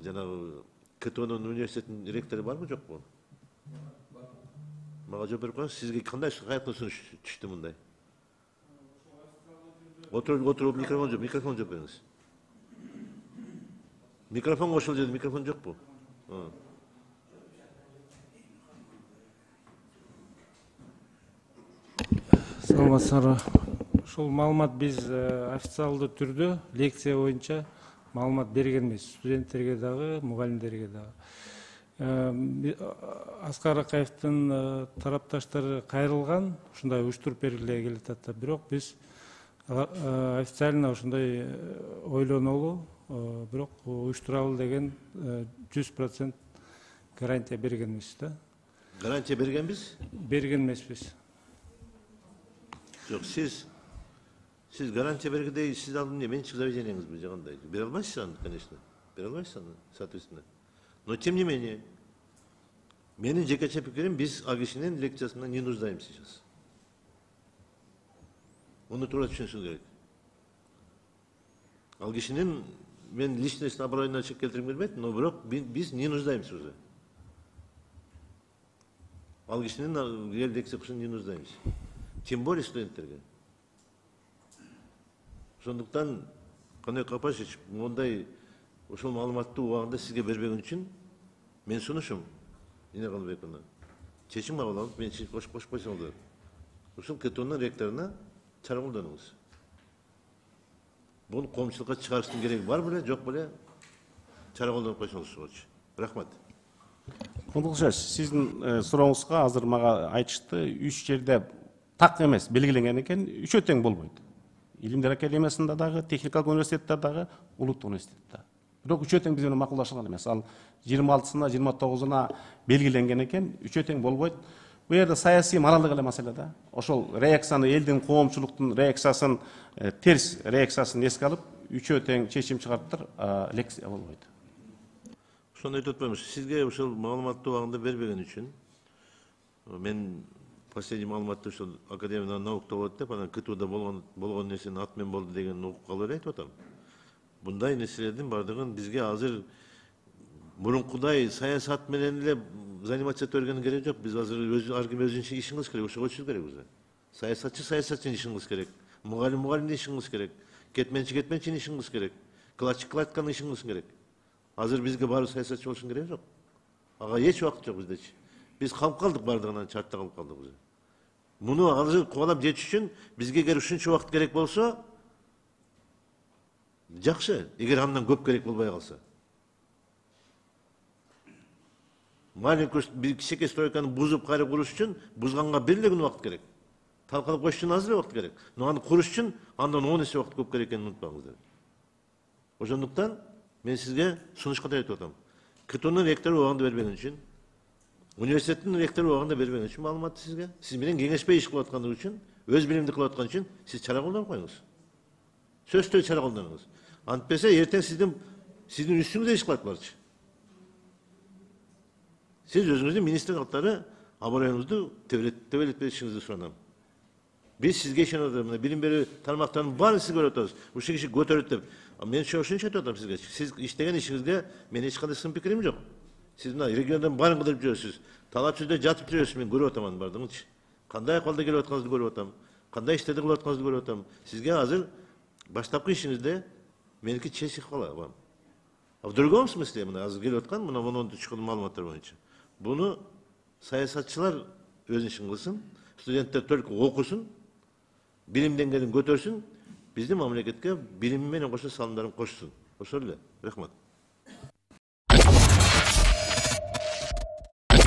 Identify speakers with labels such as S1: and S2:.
S1: жанагы КТОнун университеттин ректору барбы жокпу? Мага жооп берип коюңуз. Сизге кандай каяктан сунуш түштү мындай? Отуруп микрофон жооп бериңиз. Микрофон кошулду деді, микрофон жокпу?
S2: Саламатсыздарбы. Ушул маалымат биз официалдуу түрдө лекция боюнча маалымат бергенбиз студенттерге дагы, мугалимдерге дагы. Аскар Акаевдин тарапташтары кайрылган, ушундай уюштуруп бергиле келип атат. Бирок биз официально ушундай ойлонолу, бирок уюштуралы деген 100% гарантия бергенбиз да.
S1: Гарантия бергенбиз?
S2: Берген эмеспиз.
S1: Жок, сиз гарантия бергендей, сиз алдын менчик заведениеңизби же кандай? Бере албайсыз аны, конечно. Бере албайсыз аны, соответственно. Но тем не менее, менин жекече пикирим, биз ал кишинин лекциясына не нуждаемся сейчас. Onu туура түшүнүшүңүз керек. Ал кишинин мен личностный оборонование чек келтиргим келбейт, но бирок биз не нуждаемся уже. Ал кишинин лекция кылышына не нуждаемся. Тем более студенттерге. Ошондуктан Каныбек Капашевич мондай ошол маалыматты убагында сизге бербеген үчүн мен сунушум Дина Каныбековна. Чечим кабыл алып, мен кошуп койсоңуздар. Ушул КТОнун ректоруна чара колдонуңуз. Буну коомчулукка чыгарыштын кереги бар беле, жок беле? Чара колдонуп койсоңуз. Рахмат.
S3: Кудукшаш, сиздин сурооңузга азыр мага айтышты, 3 жерде так эмес белгиленген экен, 3 тең болбойт. Илимдер академиясында дагы, техникалык университетте дагы, улуттук университетте. Бирок 3 тең биз менен макулдашылган эмес. Ал 26-сына, 29-уна белгиленген экен, 3 тең болбойт. Бу жерде саясий моралдык эле маселе да. Ошол реакцияны, элдин, коомчулуктун реакциясын, терс реакциясын эске алып, 3 тең чечим чыгарыптыр, лекция болбойт.
S1: Ошону айтып атпаймынбы? Сизге ушул маалыматты убагында бербеген үчүн мен последний маалыматты ушул Академия наукта болот деп, анан КТУда болгон нерсенин ат менен болду деген угуп калып эле айтып атам. Мындай нерселердин бардыгын бизге азыр мурункудай саясат менен эле заниматься ете бергенин кереги жок. Биз азыр ар ким өзүнүн ишин кылыш керек, ошого көчүш керек уже. Саясатчы саясатчынын ишин кылыш керек. Мугалим мугалимдин ишин кылыш керек. Кетменчинин ишин кылыш керек. Кылаччы кылаткандын ишин кылыш керек. Азыр бизге баары саясатчы болушун кереги жок. Ага эч убакыт жок биздечи. Биз калып калдык бардыгынан, чартта калып калдык уже. Муну азыр кубалап жетиш үчүн бизге эгер ушунча убакыт керек болсо, жакшы. Эгер андан көп керек болбой калса. Маленький кичинекей стройканы бузуп кайра куруш үчүн бузганга бир эле күн убакыт керек. Талкалап коюш үчүн аз эле убакыт керек. Но аны куруш үчүн андан 10 эсе убакыт көп керек экенин унутпаңыздар. Ошондуктан мен сизге сунуш катары айтып атам. КТОнун ректору убагында бербеген үчүн, университеттин ректору убагында бербеген үчүн маалыматты сизге, сиз менен кеңешпей иш кылып аткандыгы үчүн, өз билимди кылып аткан үчүн сиз чара колдонуп коюңуз. Сөзсүз чара колдонуңуз. Антпесе эртең сиздин үстүңүздө иш кылат буларчы. Сиз өзүңүздүн министр катары обороноңузду тебелетпешиңизди суранам. Биз сизге ишенип атабыз. Билим берүү тармактарынын баарын сиз көрүп атабыз. Ушул киши көтөрөт деп. Мен ошончо айтып атам сизге. Сиз иштеген ишиңизге мен эч кандай сын пикирим жок. Сиз мына региондон баарын кыдырып жүрөсүз. Талап сүздө жатып жүрөсүз, мен көрүп атам анын баардыгынчы. Кандай акыбалда келип атканыңызды көрүп атам. Кандай иштерди кылып атканыңызды көрүп атам. Сизге азыр баштапкы ишиңизде меники чечип калам. А в другом смысле мына азыр келип аткан мына монун чыккан маалыматтар боюнча. Буну саясатчылар өз ишин кылсын, студенттер только окусун, билим деңгээлин көтөрсүн, биздин мамлекетке билими менен кошо салымдарын кошсун. Ошол эле. Рахмат.